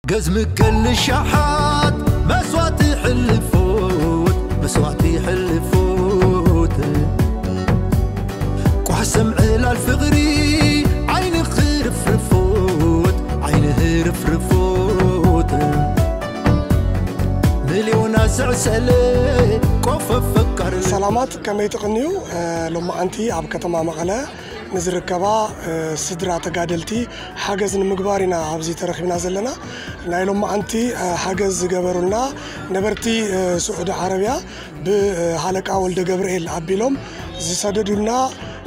ገዝሚ ከልሻሓት መስዋዕቲ ሕልፉት መስዋዕቲ ሕልፉት ቋሕሰም ዕላል ፍቕሪ ዓይኒ ኽርፍርፉት ዓይኒ ህርፍርፉት ሚልዮና ዘዕሰለ ቆፈ ፈቃር ሰላማት ከመይ ትቕንዩ? ሎማዓንቲ ኣብ ከተማ መቐለ ንዝርከባ ስድራ ተጋደልቲ ሓገዝ ንምግባር ኢና ኣብዚ ተረኺብና ዘለና። ናይ ሎማዓንቲ ሓገዝ ዝገበሩልና ነበርቲ ስዑዲ ዓረብያ ብሃለቃ ወልደ ገብርኤል ኣቢሎም ዝሰደዱልና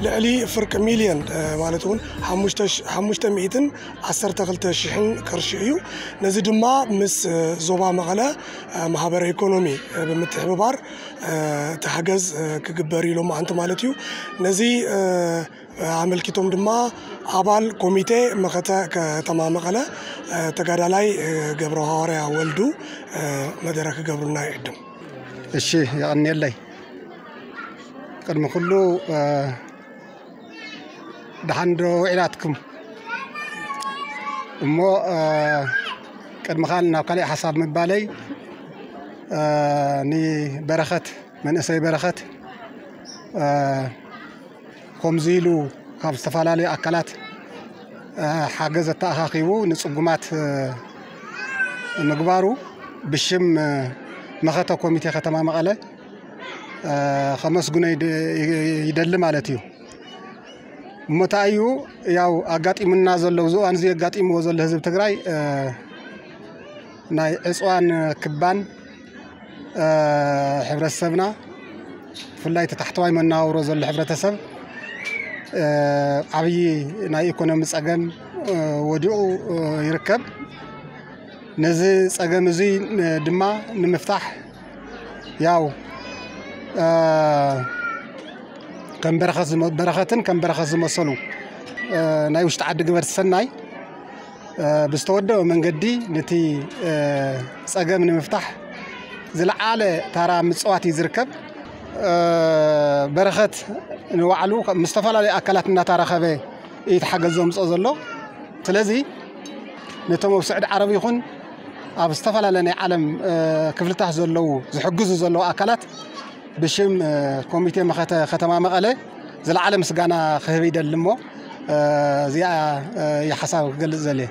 ልዕሊ ፍርቂ ሚልዮን ማለት እውን ሓሙሽተ ሚእትን ዓሰርተ ክልተ ሽሕን ቅርሺ እዩ። ነዚ ድማ ምስ ዞባ መቐለ ማህበረ ኢኮኖሚ ብምትሕብባር እቲ ሓገዝ ክግበር እዩ ሎማዓንቲ ማለት እዩ። ነዚ ኣመልኪቶም ድማ ኣባል ኮሚቴ መኸተ ከተማ መቐለ ተጋዳላይ ገብረ ሃዋርያ ወልዱ መደረ ክገብሩልና ይዕድም። እሺ፣ የቐንየለይ። ቅድሚ ኩሉ ደሓን ዶ ውዒላትኩም? እሞ ቅድሚ ካል ናብ ካልእ ሓሳብ ምባለይ ንበረኸት መንእሰይ በረኸት ከምዚ ኢሉ ካብ ዝተፈላለዩ ኣካላት ሓገዝ ኣተኣኻኺቡ ንፅጉማት ምግባሩ ብሽም መኸተ ኮሚቴ ከተማ መቐለ ከመስግኖ ይደሊ ማለት እዩ። እሞ እንታይ እዩ ያው ኣጋጢሙና ዘሎ፣ ኣብዚ እዋን እዚ ኣጋጢምዎ ዘሎ ህዝቢ ትግራይ ናይ ዕፅዋን ክባን ሕብረተሰብና ብፍላይ እቲ ታሕተዋይ መነባብሮ ዘሎ ሕብረተሰብ ዓብዪ ናይ ኢኮኖሚ ፀገም ወዲቑ ይርከብ። ነዚ ፀገም እዚ ድማ ንምፍታሕ ያው ከም በረኸት ዝመ- በረኸትን ከም በረኸት ዝመሰሉ ናይ ውሽጢ ዓዲ ግበር ሰናይ ብዝተወደበ መንገዲ ነቲ ፀገም ንምፍታሕ ዝለዓለ ታራ ምፅዋት እዩ ዝርከብ። በረኸት ንባዕሉ ምስ ዝተፈላለዩ ኣካላት እናተራኸበ እዩ እቲ ሓገዝ ዘምፅኦ ዘሎ። ስለዚ ነቶም ኣብ ስዑዲ ዓረብ ይኹን ኣብ ዝተፈላለየ ናይ ዓለም ክፍልታት ዘለዉ ዝሕግዙ ዘለዉ ኣካላት ብሽም ኮሚቴ መኸተ ከተማ መቐለ ዝለዓለ ምስጋና ክህብ ይደሊ እሞ እዚኣ እየ ሓሳብ ክገልፅ ዘልየ።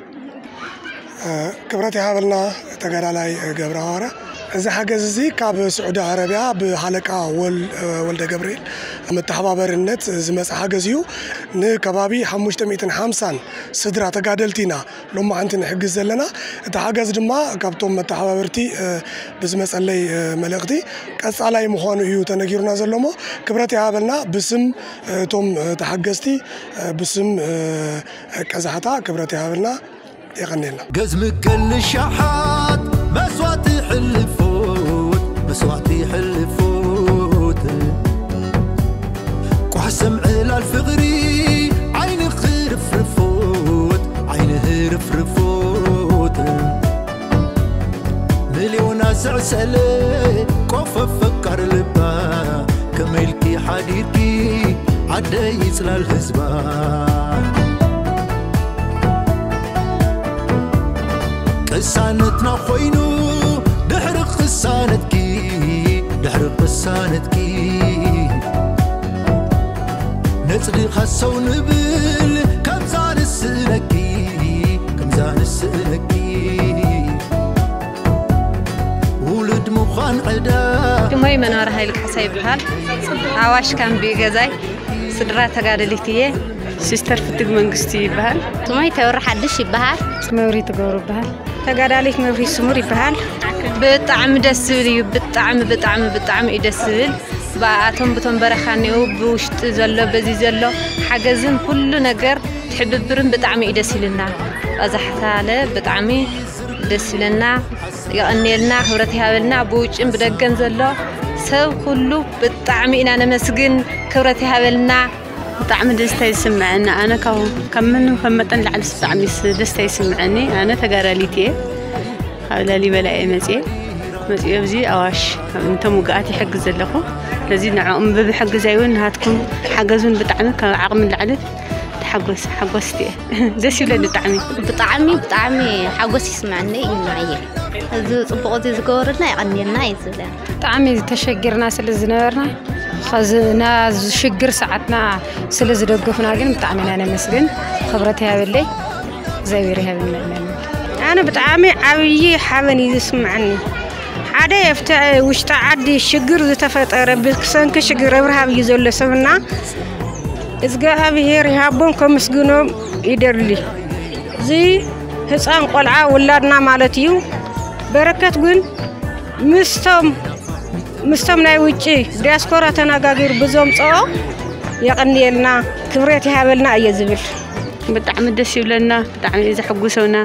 ክብረት ይሃበልና ተጋዳላይ ገብረ ሃዋርያ። እዚ ሓገዝ እዚ ካብ ስዑዲ ዓረብያ ብሃለቃ ወል- ወልደ ገብርኤል መተሓባበርነት ዝመፀ ሓገዝ እዩ። ንከባቢ ሓሙሽተ ሚእትን ሓምሳን ስድራ ተጋደልቲ ኢና ሎማዓንቲ ንሕግዝ ዘለና። እቲ ሓገዝ ድማ ካብቶም መተሓባበርቲ ብዝመፀለይ መልእኽቲ ቀፃላይ ምዃኑ እዩ ተነጊሩና ዘሎ እሞ ክብረት ይሃበልና ብስም እቶም ተሓገዝቲ ብስም ቀዛሕታ ክብረት ይሃበልና። የቐንየልና። ገዝሚ ከልሻሓት መስዋዕቲ ሕልፉት መስዋዕቲ ሕልፉት ቋሕሰም ዕላል ፍቕሪ ዓይኒ ኽርፍርፉት ዓይኒ ህርፍርፉት ሚልዮና ዘዕሰለ ቆፈ ፈቃር ልባ ከመይ ኢልኪ ሓዲርኪ ዓደይ ጽላል ህዝባ ቅሳነትና ኮይኑ ድሕሪ ቅሳነትኪ ድሕሪ ቅሳነትኪ ነጽድኻ ሰው ንብል ከምዛ ንስእነኪ ከምዛ ንስእነኪ ውሉድ ምዃን ዕዳ ሽሞይ መኖር ሃይል ካሕሳ ይበሃል። ኣዋሽ ካምቢ ገዛይ ስድራ ተጋደሊት እየ። ሲስተር ፍትግ መንግስቲ ይበሃል። ሽሞይ ተወሪ ሓድሽ ይበሃል። መብሪ ትገብሩ ይበሃል። ተጋዳሊት መብሪ ስሙር ይበሃል። ብጣዕሚ ደስ ዝብል እዩ። ብጣዕሚ ብጣዕሚ ብጣዕሚ እዩ ደስ ዝብል። ብኣቶም ብቶም በረኻ እኒኡ ብውሽጢ ዘሎ በዚ ዘሎ ሓገዝን ኩሉ ነገር ትሕብብርን ብጣዕሚ እዩ ደስ ኢልና። ቀዛሕታለ ብጣዕሚ ደስ ኢልና። የቐንየልና፣ ክብረት ይሃበልና። ብውጭን ብደገን ዘሎ ሰብ ኩሉ ብጣዕሚ ኢና ነመስግን። ክብረት ይሃበልና። ብጣዕሚ ደስታ ይስምዐኒ። ኣነ ካብ ካብ ምንም ካብ መጠን ላዕሊ ብጣዕሚ ስ- ደስታ ይስምዐኒ። ኣነ ተጋዳሊት እየ። ካብ ላሊበላ እየ መፅየ መፅዮ ኣብዚ ኣዋሽ ነቶም ውግኣት ይሕግዝ ዘለኹ። ስለዚ ንዕኦም ብምሕግዛይ እውን ንሃትኩም ሓገዝ እውን ብጣዕሚ ካብ ዓቕሚ ላዕሊ ሓጎስ ሓጎስቲ እየ። ደስ ይብለኒ ብጣዕሚ። ብጣዕሚ ብጣዕሚ ሓጎስ ይስምዐኒ እዩ ንዓየ። እዚ ጽቡቕ እዚ ዝገበሩልና የቐንየልና እዩ ዝብለና። ብጣዕሚ ተሸጊርና ስለ ዝነበርና፣ ኸዚ ናዚ ሽግር ሰዓትና ስለ ዝደገፉና ግን ብጣዕሚ ኢና ነመስግን። ክብረት ይሃበለይ፣ እግዚኣብሔር ይሃበልና። ኣነ ብጣዕሚ ዓብዪ ሓበን እዩ ዝስምዐኒ። ሓደ ኣብቲ ውሽጢ ዓዲ ሽግር ዝተፈጠረ ብሰንኪ ሽግር ኣብርሃብ እዩ ዘሎ ሰብና እግዚኣብሔር ይሃቦም ከምስግኖም ይደሊ። እዚ ህፃን ቆልዓ ውላድና ማለት እዩ። በረከት ግን ምስቶም ምስቶም ናይ ውጭ ዲያስፖራ ተነጋጊሩ ብዘምፅኦ የቐንየልና፣ ክብረት ይሃበልና እየ ዝብል። ብጣዕሚ ደስ ይብለና፣ ብጣዕሚ እዩ ዘሐጉሰና።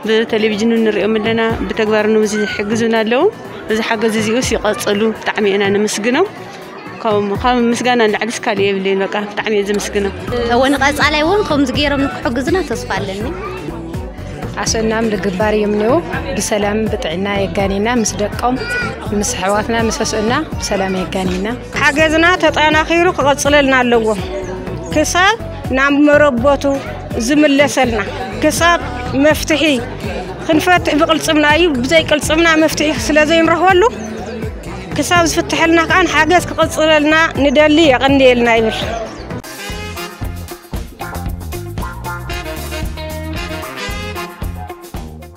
ብቴሌቪዥን ንሪኦም ኣለና፣ ብተግባር ንብዚ ዝሕግዙና ኣለዉ። እዚ ሓገዝ እዚኡስ ይቐፅሉ፣ ብጣዕሚ ኢና ነመስግኖም። ካብ ካብ ምስጋና ንላዕሊ ስካል የብልን። በቃ ብጣዕሚ እየ ዘመስግኖም። እወ ንቐፃላይ እውን ከምዚ ገይሮም ንክሕግዙና ተስፋ ኣለኒ። ኣሰናም ልግባር እዮም ነው። ብሰላም ብጥዕና የጋኒና፣ ምስ ደቆም ምስ ኣሕዋትና ምስ ኣስእና ብሰላም የጋኒና። ሓገዝና ተጠናኺሩ ክቐፅለልና ኣለዎ። ክሳብ ናብ መረቦቱ ዝምለሰልና፣ ክሳብ መፍትሒ ክንፈትሕ ብቅልፅምና እዩ። ብዘይ ቅልፅምና መፍትሒ ስለ ዘይንረኽበሉ፣ ክሳብ ዝፍትሐልና ከኣ ሓገዝ ክቐፅለልና ንደሊ፣ የቐንየልና ይብል።